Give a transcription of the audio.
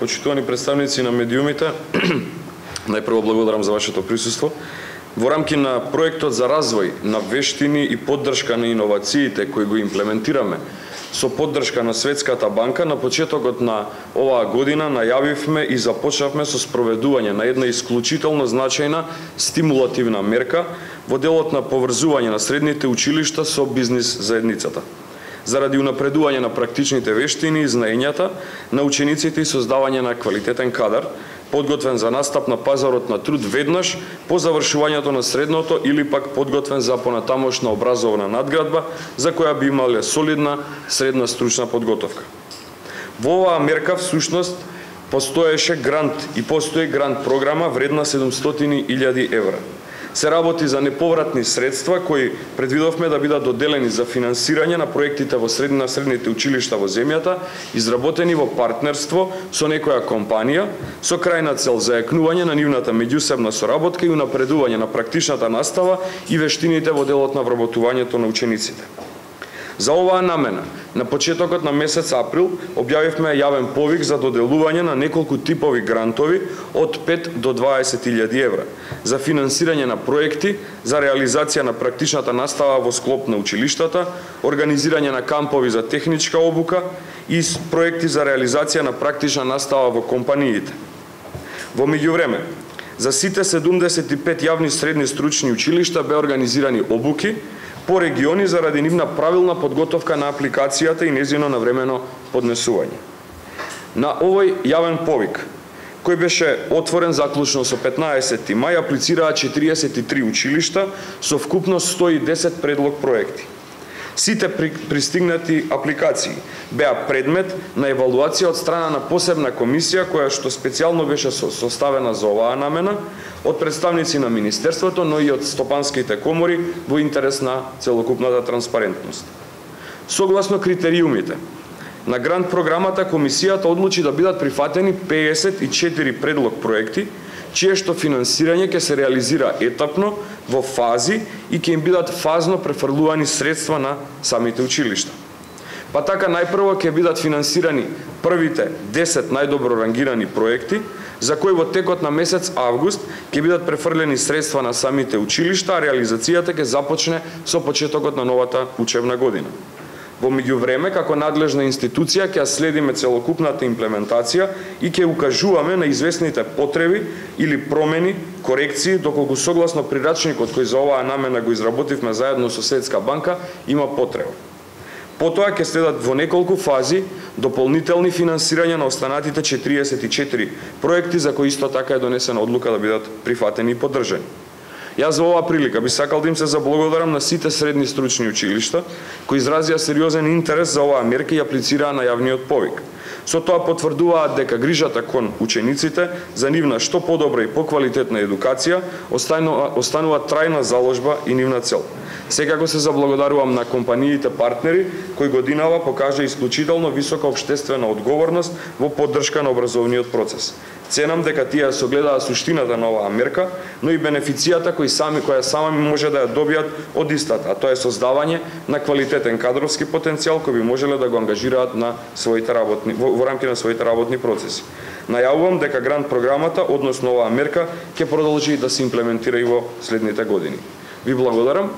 почитувани представници на медиумите, најпрво благодарам за вашето присуство. Во рамки на проектот за развој на вештини и поддршка на иновациите кои го имплементираме со поддршка на Светската банка, на почетокот на оваа година најавивме и започнавме со спроведување на една исклучително значајна стимулативна мерка во делот на поврзување на средните училишта со бизнис заедницата, заради унапредување на практичните вештини и знаењата на учениците и создавање на квалитетен кадар, подготвен за настап на пазарот на труд веднаш по завршувањето на средното или пак подготвен за понатамошна образовна надградба, за која би имале солидна средна стручна подготовка. Во оваа мерка всушност постоеше грант и постои грант програма вредна 700.000 евра. Се работи за неповратни средства кои предвидовме да бидат доделени за финансирање на проектите во средните училишта во земјата, изработени во партнерство со некоја компанија, со крајна цел зајакнување на нивната меѓусебна соработка и унапредување на практичната настава и вештините во делот на вработувањето на учениците. За оваа намена, на почетокот на месец април, објавивме јавен повик за доделување на неколку типови грантови од 5 до 20.000 евра за финансирање на проекти за реализација на практичната настава во склоп на училиштата, организирање на кампови за техничка обука и проекти за реализација на практична настава во компаниите. Во меѓувреме, за сите 75 јавни средни стручни училишта беа организирани обуки по региони заради нивна правилна подготовка на апликацијата и нејзино навремено поднесување. На овој јавен повик, кој беше отворен заклучно со 15 мај, аплицираа 43 училишта со вкупно 110 предлог проекти. Сите пристигнати апликации беа предмет на евалуација од страна на посебна комисија која што специјално беше составена за оваа намена од представници на Министерството, но и од стопанските комори во интерес на целокупната транспарентност. Согласно критериумите на грант програмата, комисијата одлучи да бидат прифатени 54 предлог проекти, чие што финансирање ќе се реализира етапно, во фази и ќе им бидат фазно префрлувани средства на самите училишта. Па така најпрво ќе бидат финансирани првите 10 најдобро рангирани проекти, за кои во текот на месец август ќе бидат префрлени средства на самите училишта, а реализацијата ќе започне со почетокот на новата учебна година. Во меѓувреме, како надлежна институција, ќе следиме целокупната имплементација и ќе укажуваме на известните потреби или промени, корекции, доколку согласно прирачникот кој за оваа намена го изработивме заедно со Светска банка, има потреба. Потоа ќе следат во неколку фази дополнителни финансирања на останатите 44 проекти за кои исто така е донесена одлука да бидат прифатени и поддржани. Јас за оваа прилика би сакал да им се заблагодарам на сите средни стручни училишта кои изразија сериозен интерес за оваа мерка и аплицираа на јавниот повик. Со тоа потврдуваат дека грижата кон учениците за нивна што подобра и поквалитетна едукација останува трајна заложба и нивна цел. Секако се заблагодарувам на компаниите партнери кои годинава покажа исклучително висока општествена одговорност во поддршка на образовниот процес. Ценам дека тие согледаа суштината на оваа мерка, но и бенефицијата која сами може да ја добијат од истата, а тоа е создавање на квалитетен кадровски потенцијал кој би можеле да го ангажираат на своите во рамки на своите работни процеси. Најавувам дека грант програмата, односно оваа мерка, ќе продолжи да се имплементира и во следните години. Ви благодарам